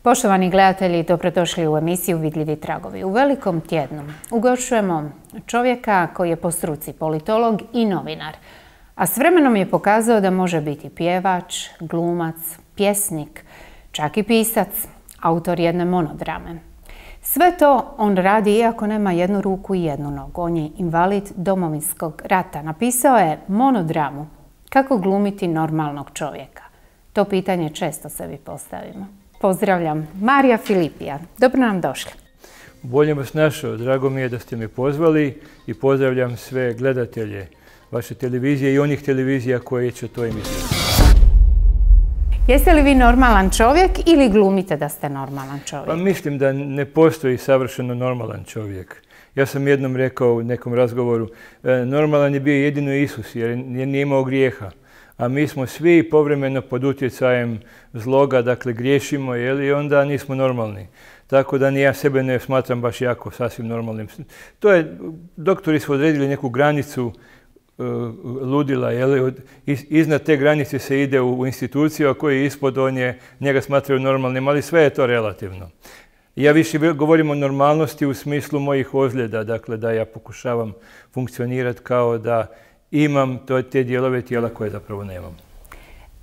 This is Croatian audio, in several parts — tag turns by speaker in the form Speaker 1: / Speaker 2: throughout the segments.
Speaker 1: Poštovani gledatelji, dobrodošli u emisiju Vidljivi tragovi. U velikom tjednu ugošćujemo čovjeka koji je po struci politolog i novinar, a s vremenom je pokazao da može biti pjevač, glumac, pjesnik, čak i pisac, autor jedne monodrame. Sve to on radi iako nema jednu ruku i jednu nogu. On je invalid Domovinskog rata. Napisao je monodramu Kako glumiti normalnog čovjeka. To pitanje često sebi postavimo. Pozdravljam Marija Filipija. Dobro nam došli.
Speaker 2: Bolje vas našao. Drago mi je da ste me pozvali i pozdravljam sve gledatelje vaše televizije i onih televizija koje će to emitirati.
Speaker 1: Jeste li vi normalan čovjek ili glumite da ste normalan čovjek?
Speaker 2: Pa mislim da ne postoji savršeno normalan čovjek. Ja sam jednom rekao u nekom razgovoru, normalan je bio jedino Isus jer nije imao grijeha. A mi smo svi povremeno pod utjecajem zloga, dakle griješimo, i onda nismo normalni. Tako da ni ja sebe ne smatram baš jako sasvim normalnim. Doktori su odredili neku granicu ludila, iznad te granice se ide u instituciju, a koji je ispod, njega smatraju normalnim, ali sve je to relativno. Ja više govorim o normalnosti u smislu mojih ozljeda, dakle da ja pokušavam funkcionirati kao da imam te dijelove tijela koje zapravo nemam.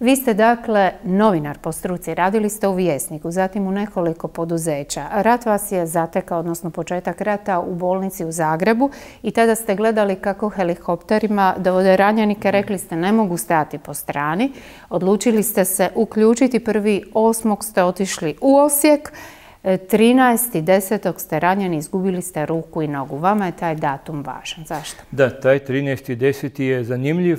Speaker 1: Vi ste dakle novinar po struci, radili ste u Vjesniku, zatim u nekoliko poduzeća. Rat vas je zatekao, odnosno početak rata u bolnici u Zagrebu i tada ste gledali kako helikopterima dovode ranjenike, rekli ste ne mogu stajati po strani. Odlučili ste se uključiti, 1.8. ste otišli u Osijek, 13.10. ste ranjeni, izgubili ste ruku i nogu. Vama je taj datum važan. Zašto?
Speaker 2: Da, taj 13.10. je zanimljiv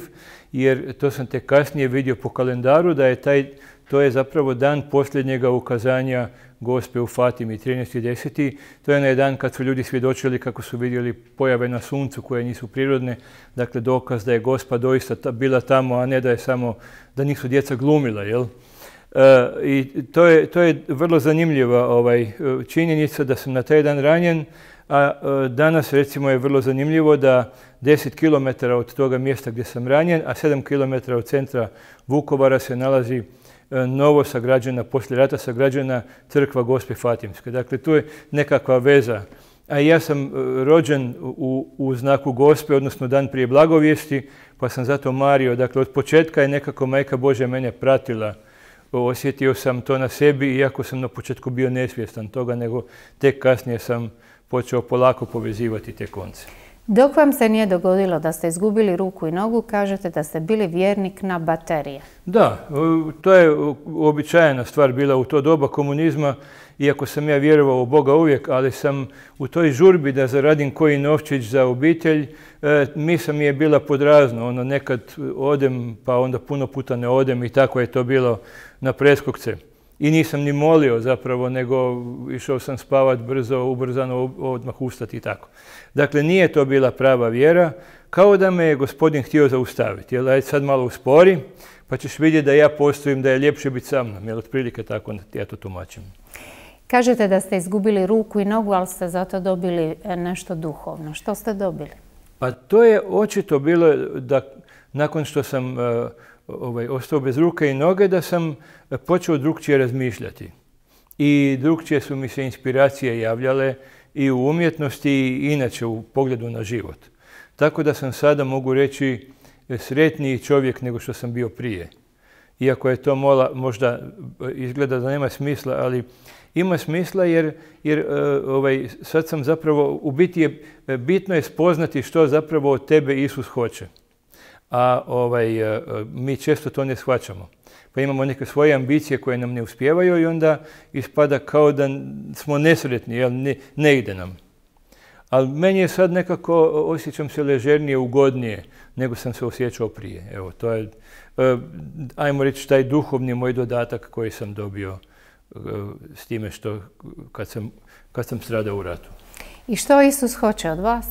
Speaker 2: jer to sam tek kasnije vidio po kalendaru da je to je zapravo dan posljednjega ukazanja Gospe u Fatimi, 13.10. To je onaj dan kad su ljudi svjedočili kako su vidjeli pojave na suncu koje nisu prirodne. Dakle, dokaz da je Gospa doista bila tamo, a ne da nisu djeca glumila, jel? I to je vrlo zanimljiva činjenica da sam na taj dan ranjen, a danas recimo je vrlo zanimljivo da 10 km od toga mjesta gdje sam ranjen, a 7 km od centra Vukovara se nalazi novo sagrađena, poslije rata sagrađena crkva Gospe Fatimske. Dakle, tu je nekakva veza. A ja sam rođen u znaku Gospe, odnosno dan prije blagovijesti, pa sam zato mario. Dakle, od početka je nekako Majka Božja mene pratila. Osjetio sam to na sebi, iako sam na početku bio nesvjestan toga, nego tek kasnije sam počeo polako povezivati te konce.
Speaker 1: Dok vam se nije dogodilo da ste izgubili ruku i nogu, kažete da ste bili vjernik na baterije.
Speaker 2: Da, to je uobičajena stvar bila u to doba komunizma, iako sam ja vjerovao u Boga uvijek, ali sam u toj žurbi da zaradim koji novčić za obitelj, misa mi je bila podrazno. Nekad odem, pa onda puno puta ne odem i tako je to bilo na preskokce. I nisam ni molio zapravo, nego išao sam spavat brzo, ubrzano, odmah ustati i tako. Dakle, nije to bila prava vjera, kao da me je Gospodin htio zaustaviti. Ajde sad malo uspori, pa ćeš vidjeti da ja postojim, da je ljepše biti sa mnom. Jer otprilike tako ja to tumačim.
Speaker 1: Kažete da ste izgubili ruku i nogu, ali ste zato dobili nešto duhovno. Što ste dobili?
Speaker 2: Pa to je očito bilo da nakon što sam ostao bez ruke i noge, da sam počeo drukčije razmišljati. I drukčije su mi se inspiracije javljale i u umjetnosti i inače u pogledu na život. Tako da sam sada, mogu reći, sretniji čovjek nego što sam bio prije. Iako je to možda izgleda da nema smisla, ali ima smisla jer sad sam zapravo, u biti bitno je spoznati što zapravo od tebe Isus hoće. A mi često to ne shvaćamo. Pa imamo neke svoje ambicije koje nam ne uspijevaju i onda ispada kao da smo nesretni, jer ne ide nam. Ali meni je sad nekako, osjećam se ležernije, ugodnije nego sam se osjećao prije. Evo, to je, ajmo reći, taj duhovni moj dodatak koji sam dobio s time što kad sam stradao u ratu.
Speaker 1: I što Isus hoće od vas?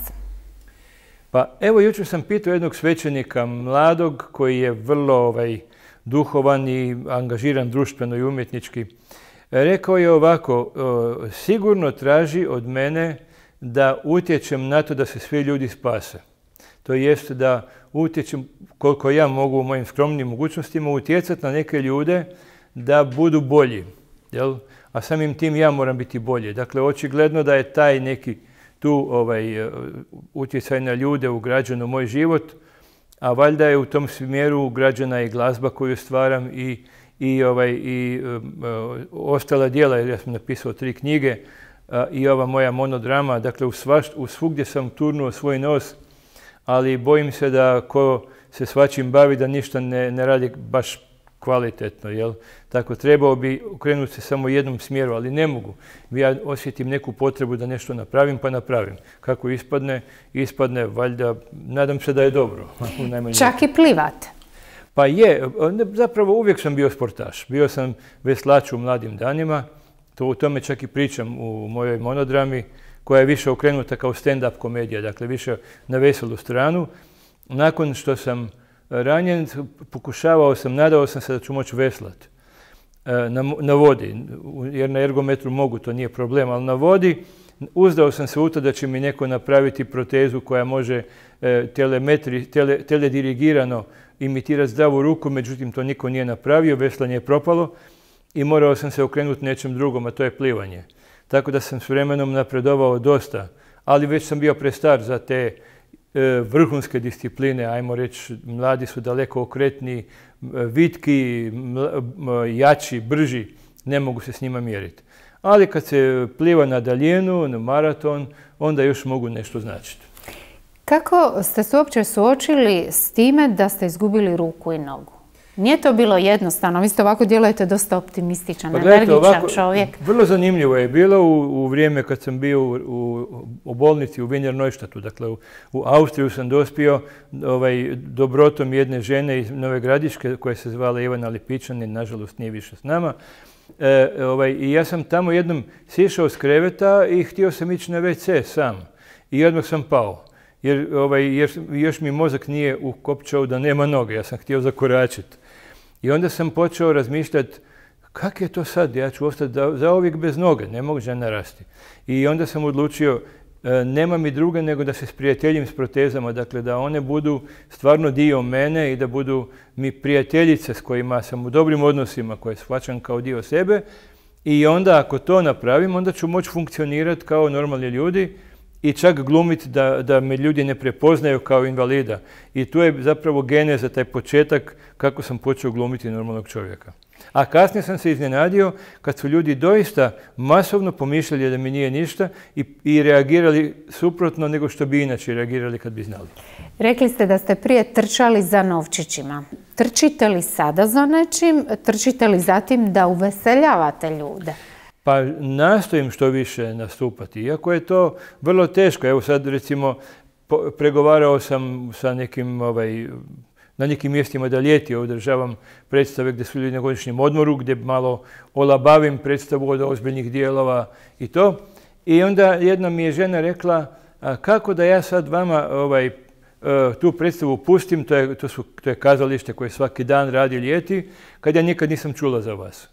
Speaker 2: Pa evo, jučer sam pitao jednog svećenika mladog koji je vrlo duhovan i angažiran društveno i umjetnički. Rekao je ovako, sigurno traži od mene da utječem na to da se svi ljudi spase. To jest da utječem koliko ja mogu u mojim skromnim mogućnostima utjecati na neke ljude da budu bolji. jel? A samim tim ja moram biti bolje. Dakle, očigledno da je taj neki tu utjecaj na ljude ugrađen u moj život, a valjda je u tom smjeru ugrađena i glazba koju stvaram i ostala djela, jer ja sam napisao 3 knjige i ova moja monodrama. Dakle, u svugdje sam turnuo svoj nos, ali bojim se da ko se svačim bavi da ništa ne radi baš kvalitetno, jel? Tako, trebao bi okrenuti se samo u jednom smjeru, ali ne mogu. Ja osjetim neku potrebu da nešto napravim, pa napravim. Kako ispadne, valjda, nadam se da je dobro.
Speaker 1: Čak i plivate?
Speaker 2: Pa je, zapravo uvijek sam bio sportaš. Bio sam veslač u mladim danima, o tome čak i pričam u mojoj monodrami, koja je više okrenuta kao stand-up komedija, dakle više na veselu stranu. Nakon što sam ranjen, nadao sam se da ću moći veslat na vodi, jer na ergometru mogu, to nije problem, ali na vodi uzdao sam se u to da će mi neko napraviti protezu koja može teledirigirano imitirati zdravu ruku, međutim to niko nije napravio, veslanje je propalo i morao sam se okrenuti nečem drugom, a to je plivanje. Tako da sam s vremenom napredovao dosta, ali već sam bio prestar za te vrhunske discipline, ajmo reći, mladi su daleko okretniji, vitki, jači, brži, ne mogu se s njima mjeriti. Ali kad se pliva na daljinu, na maraton, onda još mogu nešto značiti.
Speaker 1: Kako ste se uopće suočili s time da ste izgubili ruku i nogu? Nije to bilo jednostavno, vi ste ovako djelujete dosta optimističan, energičan čovjek.
Speaker 2: Vrlo zanimljivo je bilo u vrijeme kad sam bio u bolnici u Wiener Neustadtu. Dakle, u Austriju sam dospio dobrotom jedne žene iz Nove Gradiške koja se zvala Ivana Lipičanin, nažalost nije više s nama. I ja sam tamo jednom sišao s kreveta i htio sam ići na WC sam. I odmah sam pao. Jer još mi mozak nije ukopčao da nema noge, ja sam htio zakoračiti. I onda sam počeo razmišljati, kak je to sad, ja ću ostati zauvijek bez noge, ne mogu žena rasti. I onda sam odlučio, nema mi druge nego da se sprijateljim s protezama, dakle da one budu stvarno dio mene i da budu mi prijateljice s kojima sam u dobrim odnosima, koje shvaćam kao dio sebe. I onda ako to napravim, onda ću moći funkcionirati kao normalni ljudi i čak glumiti da me ljudi ne prepoznaju kao invalida. I tu je zapravo geneza, taj početak kako sam počeo glumiti normalnog čovjeka. A kasnije sam se iznenadio kad su ljudi doista masovno pomišljali da mi nije ništa i reagirali suprotno nego što bi inače reagirali kad bi znali.
Speaker 1: Rekli ste da ste prije trčali za novčićima. Trčite li sada za nečim? Trčite li zatim da uveseljavate ljude?
Speaker 2: Pa nastojim što više nastupati, iako je to vrlo teško. Evo sad recimo pregovarao sam sa nekim, na nekim mjestima da ljeti održavam predstave gdje su ljudi na godišnjem odmoru, gdje malo olabavim predstavu od ozbiljnih dijelova i to. I onda jedna mi je žena rekla, kako da ja sad vama tu predstavu pustim, to je kazalište koje svaki dan radi ljeti, kad ja nikad nisam čula za vas.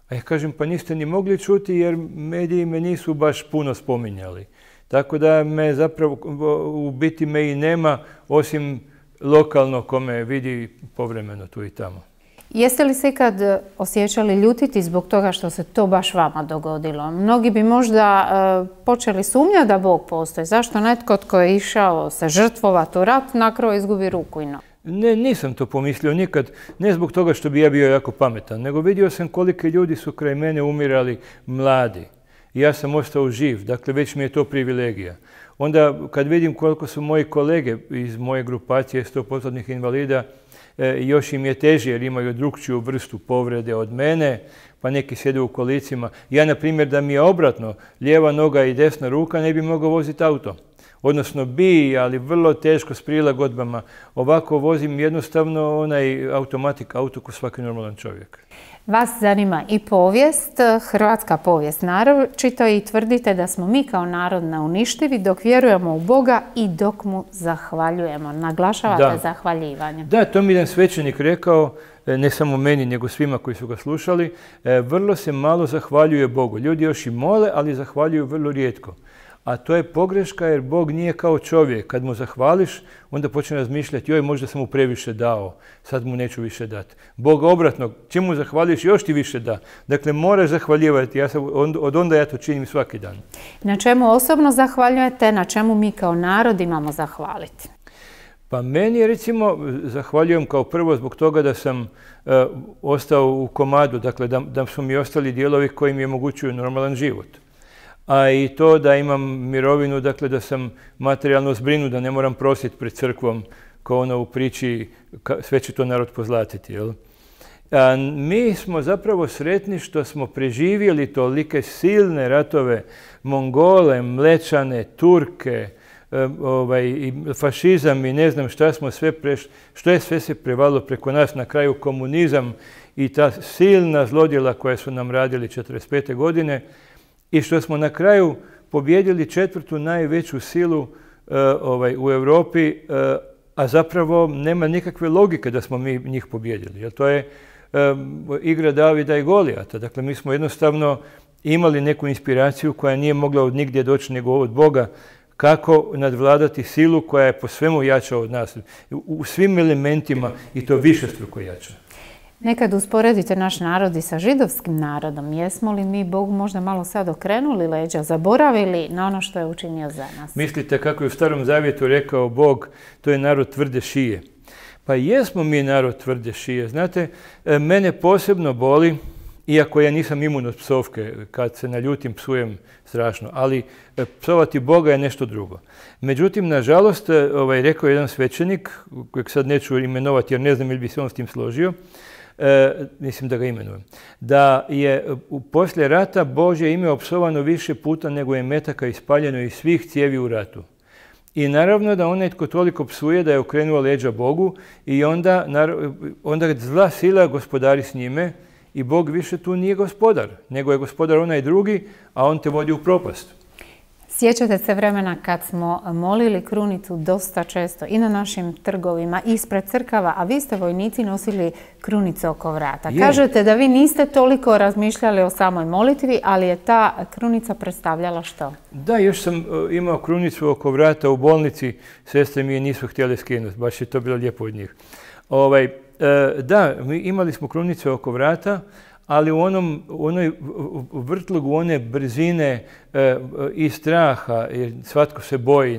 Speaker 2: A ja kažem, pa niste ni mogli čuti jer mediji me nisu baš puno spominjali. Tako da me zapravo, u biti me i nema, osim lokalno ko me vidi povremeno tu i tamo.
Speaker 1: Jeste li se ikad osjećali ljutiti zbog toga što se to baš vama dogodilo? Mnogi bi možda počeli sumnjati da Bog postoji. Zašto netko tko je išao se žrtvovati u rat, na kraju izgubi ruku i nogu?
Speaker 2: Ne, nisam to pomislio nikad, ne zbog toga što bi ja bio jako pametan, nego vidio sam kolike ljudi su kraj mene umirali mladi. I ja sam ostao živ, dakle već mi je to privilegija. Onda kad vidim koliko su moji kolege iz moje grupacije 100% invalida, još im je teže jer imaju drukčiju vrstu povrede od mene, pa neki sjede u kolicima. Ja, na primjer, da mi je obratno, lijeva noga i desna ruka, ne bi mogao voziti auto. Odnosno bi, ali vrlo teško s prilagodbama. Ovako vozim jednostavno onaj automatik auto ko svaki normalan čovjek.
Speaker 1: Vas zanima i povijest, hrvatska povijest naročito, i tvrdite da smo mi kao narod neuništivi dok vjerujemo u Boga i dok mu zahvaljujemo. Naglašavate zahvaljivanje.
Speaker 2: Da, to mi jedan svećenik rekao, ne samo meni nego svima koji su ga slušali. Vrlo se malo zahvaljuje Bogu. Ljudi još i mole, ali zahvaljuju vrlo rijetko. A to je pogreška jer Bog nije kao čovjek. Kad mu zahvališ, onda počne razmišljati, joj, možda sam mu previše dao, sad mu neću više dati. Bog obratno, čim mu zahvališ, još ti više da. Dakle, moraš zahvaljivati. Od onda ja to činim svaki dan.
Speaker 1: Na čemu osobno zahvaljujete, na čemu mi kao narod imamo zahvaliti?
Speaker 2: Pa meni je, recimo, zahvaljujem kao prvo zbog toga da sam ostao u komadu, dakle da su mi ostali dijelovi koji mi omogućuju normalan život. A i to da imam mirovinu, dakle da sam materijalno zbrinut, da ne moram prositi pred crkvom kao ono u priči sve će to narod pozlatiti. Jel? A mi smo zapravo sretni što smo preživjeli tolike silne ratove, Mongole, Mlečane, Turke, i fašizam i ne znam šta smo sve prešli, što je sve se prevalilo preko nas, na kraju komunizam i ta silna zlodjela koja su nam radili 1945. godine i što smo na kraju pobjedili četvrtu najveću silu u Europi, a zapravo nema nikakve logike da smo mi njih pobjedili. Jer to je igra Davida i Golijata. Dakle, mi smo jednostavno imali neku inspiraciju koja nije mogla od nigdje doći nego od Boga, kako nadvladati silu koja je po svemu jača od nas, u svim elementima i to višestruko jača.
Speaker 1: Nekad usporedite naš narod i sa židovskim narodom. Jesmo li mi Bogu možda malo sad okrenuli leđa, zaboravili na ono što je učinio za nas?
Speaker 2: Mislite kako je u Starom Zavjetu rekao Bog, to je narod tvrde šije. Pa jesmo mi narod tvrde šije. Znate, mene posebno boli, iako ja nisam imun od psovke, kad se naljutim psujem strašno, ali psovati Boga je nešto drugo. Međutim, nažalost, rekao jedan svećenik, kojeg sad neću imenovati jer ne znam ili bi se on s tim složio, mislim da ga imenujem, da je poslije rata Božje ime opsovano više puta nego je metaka ispaljeno iz svih cijevi u ratu. I naravno da onaj tko toliko psuje da je okrenuo leđa Bogu i onda zla sila gospodari s njime i Bog više tu nije gospodar, nego je gospodar onaj drugi, a on te vodi u propast.
Speaker 1: Sjećate se vremena kad smo molili krunicu dosta često i na našim trgovima, ispred crkava, a vi ste vojnici nosili krunice oko vrata. Kažete da vi niste toliko razmišljali o samoj molitvi, ali je ta krunica predstavljala što? Da,
Speaker 2: još sam imao krunicu oko vrata u bolnici, sestre mi je nisu htjele skinuti, baš je to bilo lijepo od njih. Da, imali smo krunice oko vrata, ali u onoj vrtlogu one brzine i straha, jer svatko se boji,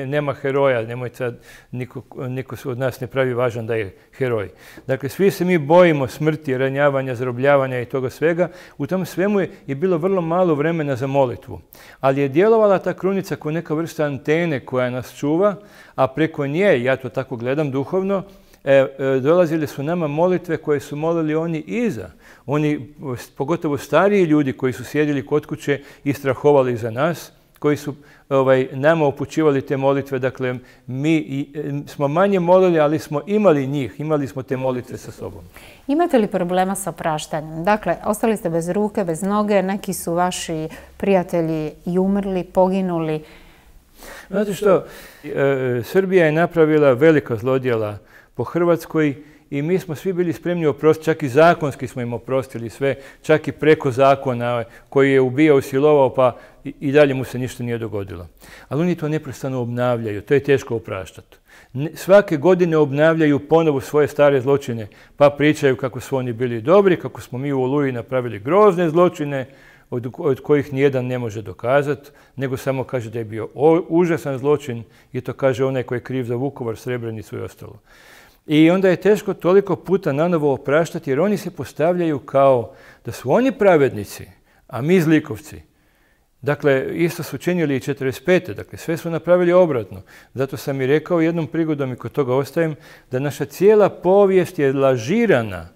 Speaker 2: nema heroja, nemoj sad, niko od nas ne pravi važan da je heroj. Dakle, svi se mi bojimo smrti, ranjavanja, zarobljavanja i toga svega. U tom svemu je bilo vrlo malo vremena za molitvu. Ali je djelovala ta krunica kao neka vrsta antene koja nas čuva, a preko nje, ja to tako gledam duhovno, dolazile su nama molitve koje su molili oni iza. Oni, pogotovo stariji ljudi koji su sjedili kod kuće i strahovali za nas, koji su nama upućivali te molitve. Dakle, mi smo manje molili, ali smo imali njih, imali smo te molitve sa sobom.
Speaker 1: Imate li problema sa opraštanjem? Dakle, ostali ste bez ruke, bez noge, neki su vaši prijatelji i umrli, poginuli.
Speaker 2: Znate što, Srbija je napravila velika zlodjela po Hrvatskoj i mi smo svi bili spremni oprostiti, čak i zakonski smo im oprostili sve, čak i preko zakona koji je ubijao, silovao, pa i dalje mu se ništa nije dogodilo. Ali oni to neprestano obnavljaju, to je teško opraštati. Svake godine obnavljaju ponovo svoje stare zločine, pa pričaju kako su oni bili dobri, kako smo mi u Oluji napravili grozne zločine, od kojih nijedan ne može dokazati, nego samo kaže da je bio užasan zločin i to kaže onaj koji je kriv za Vukovar, Srebrenicu i ostalo. I onda je teško toliko puta nanovo opraštati jer oni se postavljaju kao da su oni pravednici, a mi zlikovci. Dakle, isto su činili i 1945. Dakle, sve su napravili obratno. Zato sam i rekao jednom prigodom i kod toga ostajem da naša cijela povijest je lažirana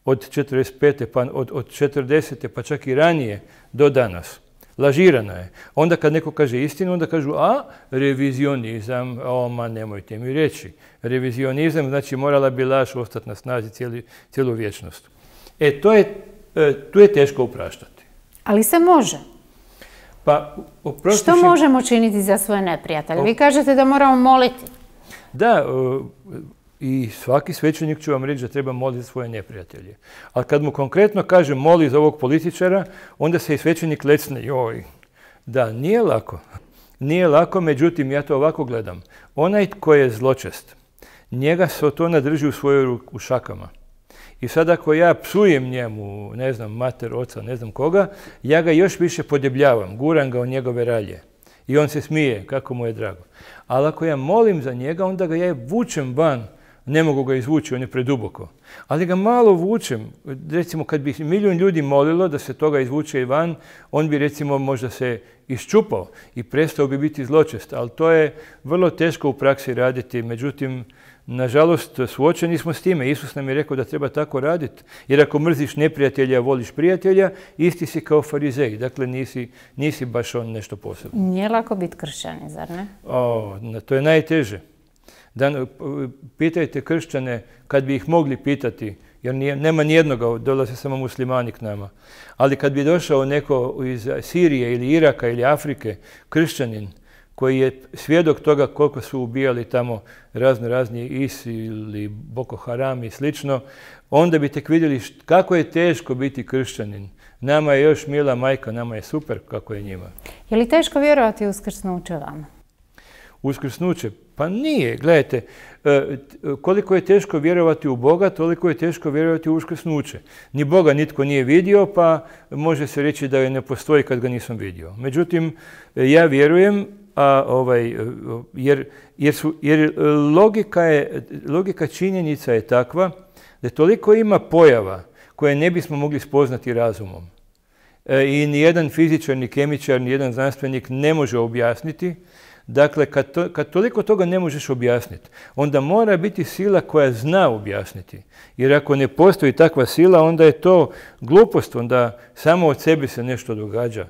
Speaker 2: od 1945. pa od 1940. pa čak i ranije do danas. Lažirana je. Onda kad neko kaže istinu, onda kažu, a revizionizam, ma nemojte mi reći. Revizionizam znači morala bi laž ostati na snazi cijelu vječnost. Tu je teško opraštati.
Speaker 1: Ali se može.
Speaker 2: Pa,
Speaker 1: što možemo činiti za svoje neprijatelje? Vi kažete da moramo moliti.
Speaker 2: Da, i svaki svećenik će vam reći da treba moliti svoje neprijatelje. Ali kad mu konkretno kaže moli za ovog političara, onda se i svećenik lecne, joj, Da, nije lako. Nije lako, međutim, ja to ovako gledam. Onaj tko je zločest, njega Sotona drži u svojoj u šakama. I sad ako ja psujem njemu, ne znam, mater, oca, ne znam koga, ja ga još više podebljavam, guram ga u njegove ralje. I on se smije, kako mu je drago. Ali ako ja molim za njega, onda ga ja vučem van. Ne mogu ga izvući, on je preduboko. Ali ga malo vučem. Recimo, kad bi milijun ljudi molilo da se toga izvuče van, on bi recimo možda se iščupao i prestao bi biti zločest. Ali to je vrlo teško u praksi raditi. Međutim, nažalost, suočeni smo s time. Isus nam je rekao da treba tako raditi. Jer ako mrziš neprijatelja, voliš prijatelja, isti si kao farizej. Dakle, nisi baš on nešto posebno.
Speaker 1: Nije lako biti kršćanin, zar ne?
Speaker 2: To je najteže. Pitajte kršćane kad bi ih mogli pitati, jer nema nijednoga, dolaze samo muslimani k nama. Ali kad bi došao neko iz Sirije ili Iraka ili Afrike, kršćanin, koji je svjedok toga koliko su ubijali tamo razni ISIL ili Boko Haram i slično, onda bi tek vidjeli kako je teško biti kršćanin. Nama je još mila majka, nama je super kako je njima.
Speaker 1: Je li teško vjerovati u uskrsnuće vama?
Speaker 2: Uskrsnuće? Pa nije. Gledajte, koliko je teško vjerovati u Boga, toliko je teško vjerovati u uskrsnuće. Ni Boga nitko nije vidio, pa može se reći da je ne postoji kad ga nisam vidio. Međutim, ja vjerujem, jer logika činjenica je takva da toliko ima pojava koje ne bismo mogli spoznati razumom. I nijedan fizičar, ni kemičar, nijedan znanstvenik ne može objasniti. Dakle, kad toliko toga ne možeš objasniti, onda mora biti sila koja zna objasniti. Jer ako ne postoji takva sila, onda je to glupost, onda samo od sebe se nešto događa.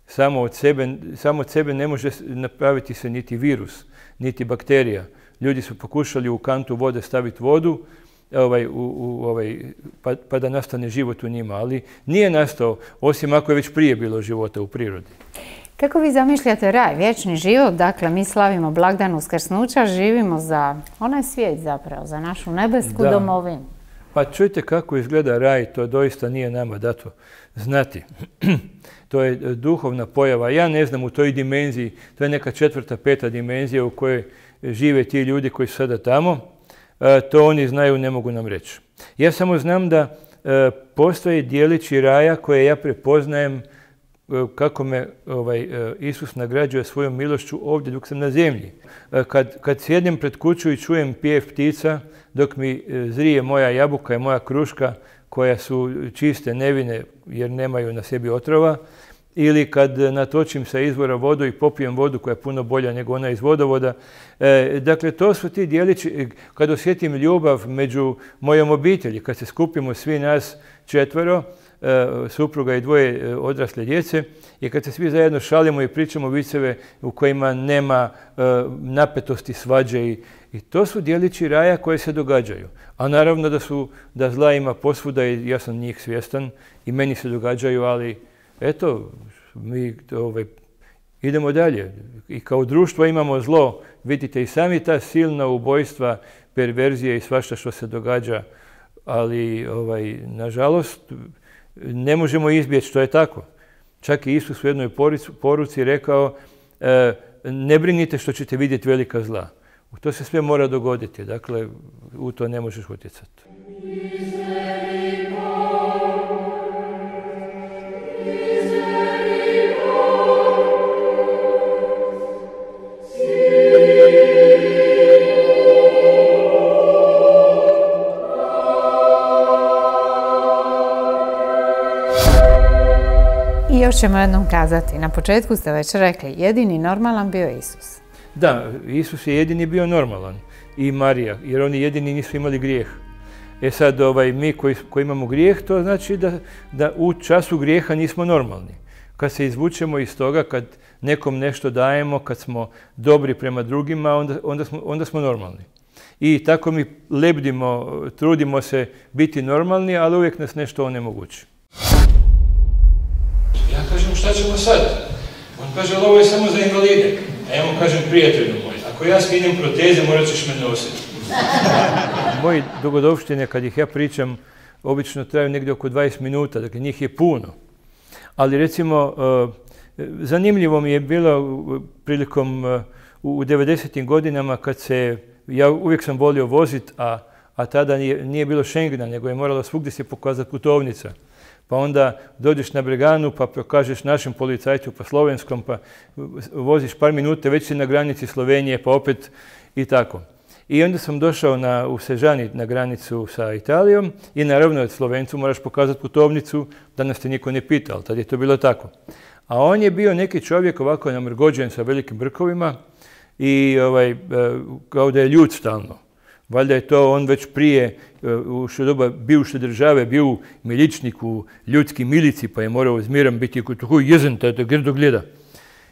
Speaker 2: Samo od sebe ne može napraviti se niti virus, niti bakterija. Ljudi su pokušali u kantu vode staviti vodu, pa da nastane život u njima, ali nije nastao, osim ako je već prije bilo života u prirodi.
Speaker 1: Kako vi zamišljate raj, vječni život? Dakle, mi slavimo blagdan uskrsnuća, živimo za onaj svijet zapravo, za našu nebesku domovinu.
Speaker 2: Pa čujte kako izgleda raj, to doista nije nama dato znati. To je duhovna pojava. Ja ne znam u toj dimenziji, to je neka 4., 5. dimenzija u kojoj žive ti ljudi koji su sada tamo. To oni znaju, ne mogu nam reći. Ja samo znam da postoje dijelići raja koje ja prepoznajem kako me Isus nagrađuje svojom milošću ovdje dok sam na zemlji. Kad sjednem pred kuću i čujem pjev ptica, dok mi zrije moja jabuka i moja kruška, koja su čiste, nevine jer nemaju na sebi otrova, ili kad natočim sa izvora vodu i popijem vodu koja je puno bolja nego ona iz vodovoda. Dakle, to su ti dijelići, kad osjetim ljubav među mojom obitelji, kad se skupimo svi nas 4, supruga i 2 odrasle djece, i kad se svi zajedno šalimo i pričamo viceve u kojima nema napetosti, svađe, i to su dijelići raja koje se događaju. A naravno da zla ima posvuda i ja sam njih svjestan i meni se događaju, ali eto, mi idemo dalje. I kao društvo imamo zlo. Vidite i sami ta silna ubojstva, perverzije i svašta što se događa, ali nažalost ne možemo izbjeći, to je tako. Čak i Isus u jednoj poruci rekao, ne brinite što ćete vidjeti velika zla. To se sve mora dogoditi, dakle u to ne možeš utjecati.
Speaker 1: I još ćemo jednom kazati, na početku ste već rekli, jedini normalan bio Isus.
Speaker 2: Da, Isus je jedini bio normalan i Marija, jer oni jedini nisu imali grijeh. Sad mi koji imamo grijeh, to znači da u času grijeha nismo normalni. Kad se izvučemo iz toga, kad nekom nešto dajemo, kad smo dobri prema drugima, onda smo normalni. I tako mi lebdimo, trudimo se biti normalni, ali uvijek nas nešto onemogući. Ja kažem, šta ćemo sad? On kaže, ali ovo je samo za invalide. A ja mu kažem, prijatelju moj, ako ja skinem proteze, morat ćeš me nositi. Moji dogodovštine, kad ih ja pričam, obično traju negdje oko 20 minuta, dakle njih je puno. Ali recimo, Zanimljivo mi je bilo prilikom u 90. godinama kad ja uvijek sam volio voziti, a tada nije bilo Schengena, nego je moralo svugdje se pokazati putovnica. Pa onda dođeš na Breganu, pa pokažeš našem policajcu, pa slovenskom, pa voziš par minuta, već si na granici Slovenije, pa opet i tako. I onda sam došao u Sežani na granicu sa Italijom i naravno Slovencu moraš pokazati putovnicu, da nas te niko ne pita, ali tad je to bilo tako. A on je bio neki čovjek ovako namrgođen sa velikim brkovima i kao da je ljud stalno. Valjda je to on već prije, u doba bivše države, bio u miličniku, ljudski milici, pa je morao zmiran biti koji jezen, da grdo gleda.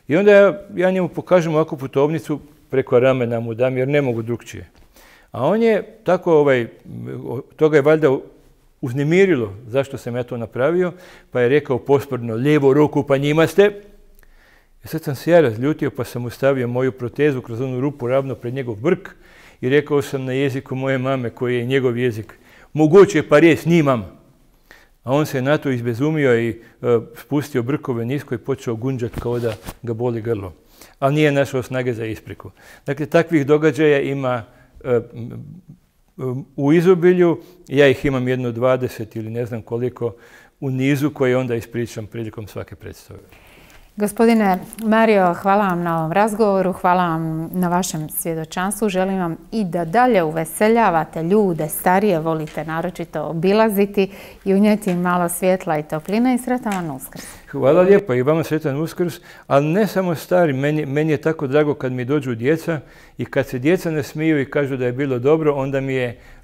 Speaker 2: I onda ja njemu pokažem ovakvu putovnicu, preko ramena mu dam, jer ne mogu drugčije. A on je tako, toga je valjda uznemirilo zašto sam ja to napravio, pa je rekao posprdno, lijevo ruku pa njima ste. I sad sam se ja razljutio, pa sam mu stavio moju protezu kroz onu rupu ravno pred njegov brk i rekao sam na jeziku moje mame, koji je njegov jezik, moguće pa res nimam. A on se na to izbezumio i spustio brkove nisko i počeo gunđati kao da ga boli grlo. Ali nije našao snage za ispriku. Dakle, takvih događaja ima u izobilju. Ja ih imam 20 ili ne znam koliko u nizu koje onda ispričam prilikom svake predstave.
Speaker 1: Gospodine Mario, hvala vam na ovom razgovoru, hvala vam na vašem svjedočanstvu. Želim vam i da dalje uveseljavate ljude, starije volite naročito obilaziti i unijeti im malo svjetla i topline i sretan vam Uskrs.
Speaker 2: Hvala lijepo i vama sretan Uskrs, ali ne samo stari, meni je tako drago kad mi dođu djeca i kad se djeca ne smiju i kažu da je bilo dobro,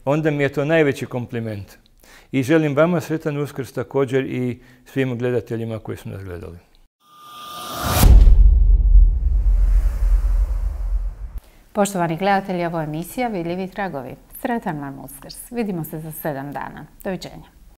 Speaker 2: onda mi je to najveći kompliment. I želim vama sretan Uskrs također i svim gledateljima koji su nas gledali.
Speaker 1: Poštovani gledatelji, ovo je emisija Vidljivi tragovi. Sretan vam Uskrs. Vidimo se za 7 dana. Doviđenja.